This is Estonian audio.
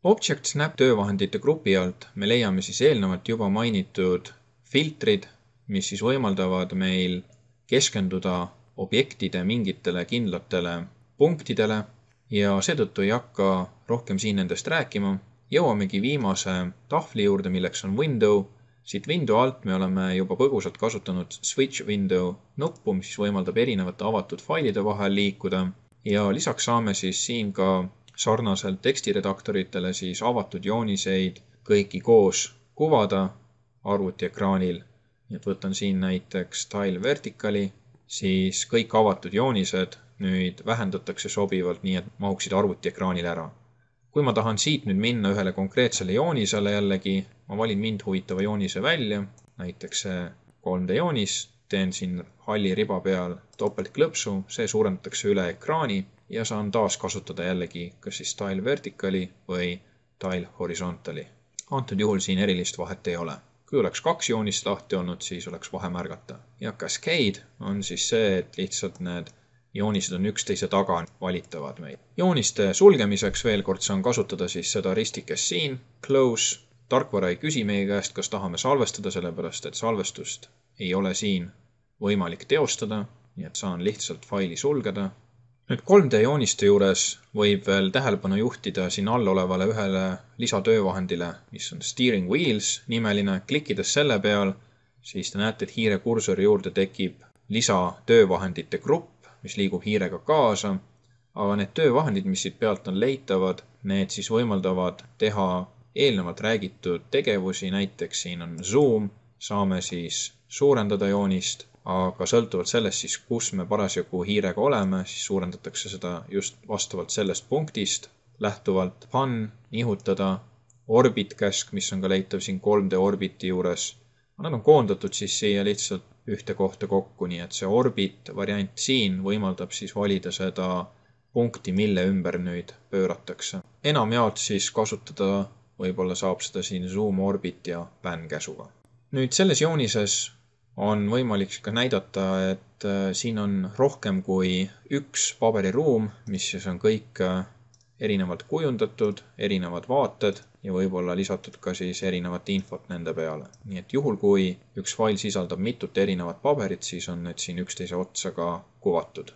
Object Snap töövahendite grupi alt me leiame siis eelnevalt juba mainitud filtrid, mis siis võimaldavad meil keskenduda objektide mingitele kindlatele punktidele ja seetõttu ei hakka rohkem siin nendest rääkima. Jõuamegi viimase tahvli juurde, milleks on Window. Siit Window alt me oleme juba põgusalt kasutanud Switch Window nuppu, mis võimaldab erinevate avatud failide vahel liikuda ja lisaks saame siis siin ka sarnaselt tekstiredaktoritele siis avatud jooniseid kõiki koos kuvada arvutiekraanil. Nii et võtan siin näiteks Tile Verticali, siis kõik avatud joonised nüüd vähendatakse sobivalt nii, et mahuksid arvutiekraanil ära. Kui ma tahan siit nüüd minna ühele konkreetsele joonisele jällegi, ma valin mind huvitava joonise välja, näiteks see 3D joonis, teen siin halli riba peal topeltklõpsu, see suurendatakse üle ekraani ja saan taas kasutada jällegi kas siis Tile Verticali või Tile Horizontali. Antud juhul siin erilist vahet ei ole. Kui oleks 2 joonist lahti olnud, siis oleks vahe märgata. Ja Cascade on siis see, et lihtsalt need joonised on üksteise taga valitavad meil. Jooniste sulgemiseks veel kord saan kasutada siis seda ristikest siin, Close. Tarkvara ei küsi meie käest, kas tahame salvestada, sellepärast et salvestust ei ole siin võimalik teostada, nii et saan lihtsalt faili sulgeda. Nüüd 3D jooniste juures võib veel tähelepanu juhtida siin all olevale ühele lisatöövahendile, mis on Steering Wheels nimeline. Klikkides selle peal, siis te näete, et hiire kursori juurde tekib lisatöövahendite grupp, mis liigub hiirega kaasa, aga need töövahendid, mis siit pealt on leitavad, need siis võimaldavad teha eelnevalt räägitud tegevusi, näiteks siin on zoom, saame siis suurendada joonist, aga sõltuvalt sellest siis, kus me parasjagu hiirega oleme, siis suurendatakse seda just vastavalt sellest punktist, lähtuvalt pan, nihutada, orbit käsk, mis on ka leitav siin 3D orbiti juures. Nad on koondatud siis siia lihtsalt ühte kohta kokku, nii et see orbit variant siin võimaldab siis valida seda punkti, mille ümber nüüd pööratakse. Enamjaolt siis kasutada võib-olla saab seda siin zoom, orbit ja pan käsuga. Nüüd selles joonises on võimalik ka näidata, et siin on rohkem kui üks paberiruum, mis siis on kõik erinevalt kujundatud, erinevad vaated ja võib-olla lisatud ka siis erinevat infot nende peale. Nii et juhul, kui üks fail sisaldab mitut erinevat paberit, siis on need siin üksteise otsa ka kuvatud.